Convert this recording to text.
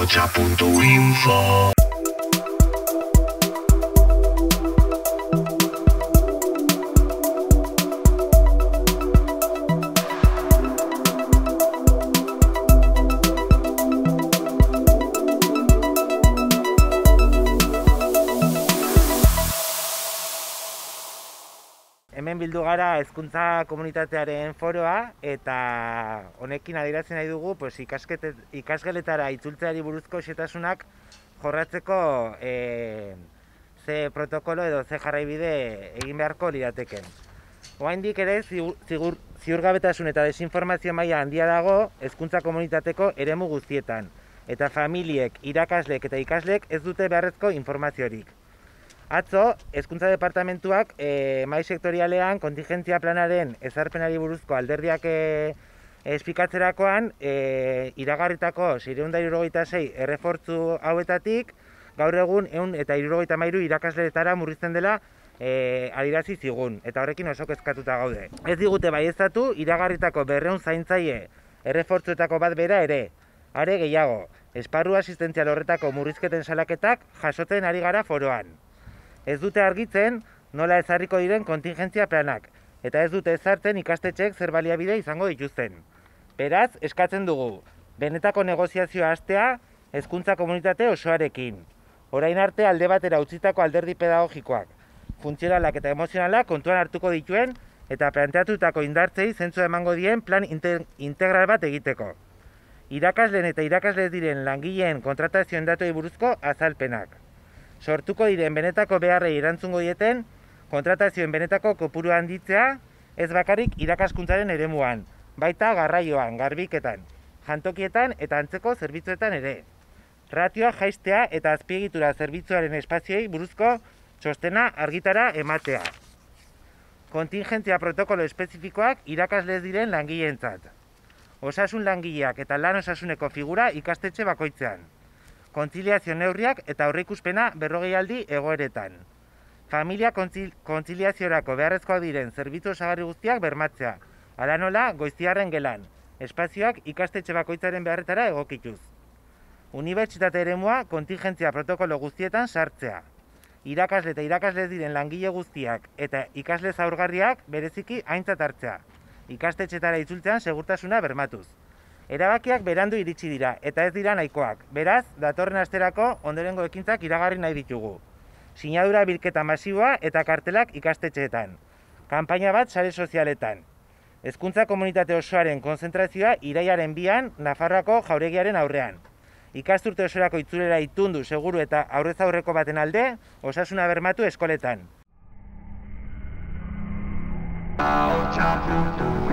ahotsa.info. Hemen bildu gara hezkuntza komunitatearen foroa eta honekin adierazi nahi dugu ikasgeletara itzultzeari buruzko xehetasunak jorratzeko ze protokolo edo ze jarraibide egin beharko lirateken. Oraindik ere ziurgabetasun eta desinformazio maila handia dago hezkuntza komunitateko eremu guztietan eta familiek, irakasleek eta ikaslek ez dute beharrezko informaziorik. Atzo, Hezkuntza Departamentuak mahai sektorialean kontingentzia planaren ezarpenari buruzko alderdiak esplikatzerakoan iragarritako 676 errefortzu hauetatik gaur egun 173 irakasleetara murrizten dela adierazi zigun, eta horrekin oso kezkatuta gaude. Ez digute baieztatu iragarritako 200 zaintzaile errefortzuetako bat bera ere. Are gehiago, esparru asistentzial horretako murrizketen salaketak jasotzen ari gara foroan. Ez dute argitzen nola ezarriko diren kontingentzia planak, eta ez dute ezartzen ikastetxeek zer baliabide izango dituzten. Beraz, eskatzen dugu, benetako negoziazioa hastea hezkuntza komunitate osoarekin. Orain arte alde batera utzitako alderdi pedagogikoak, funtzionalak eta emozionalak kontuan hartuko dituen eta planteatutako indartzei zentzua emango dien plan integral bat egiteko. Irakasleen eta irakasle diren langileen kontratazioen datuei buruzko azalpenak. Sortuko diren benetako beharrei erantzungo dieten kontratazioen benetako kopuru handitzea ez bakarrik irakaskuntzaren eremuan, baita garraioan, garbiketan, jantokietan eta antzeko zerbitzuetan ere. Ratioa jaistea eta azpiegitura zerbitzuaren espazioei buruzko txostena argitara ematea. Kontingentzia protokolo espezifikoak irakasle diren langileentzat. Osasun langileak eta lan osasuneko figura ikastetxe bakoitzean. Kontziliazio neurriak eta aurreikuspena 40 aldi egoeretan. Familia kontziliaziorako beharrezkoak diren zerbitzu osagarri guztiak bermatzea, hala nola goiztiarren gelan, espazioak ikastetxe bakoitzaren beharretara egokituz. Unibertsitate eremua kontingentzia protokolo guztietan sartzea. Irakasle eta irakasle diren langile guztiak eta ikasle zaurgarriak bereziki aintzat hartzea. Ikastetxetara itzultzean segurtasuna bermatuz. Erabakiak berandu iritsi dira eta ez dira nahikoak. Beraz, datorren asterako ondorengo ekintzak iragarri nahi ditugu. Sinadura bilketa masiboa eta kartelak ikastetxeetan. Kanpaina bat sare sozialetan. Hezkuntza komunitate osoaren konzentrazioa irailaren 2an Nafarroako jauregiaren aurrean. Ikasturte osorako itzulera itundu seguru eta aurrez aurreko baten alde, osasuna bermatu eskoletan. ahotsa.info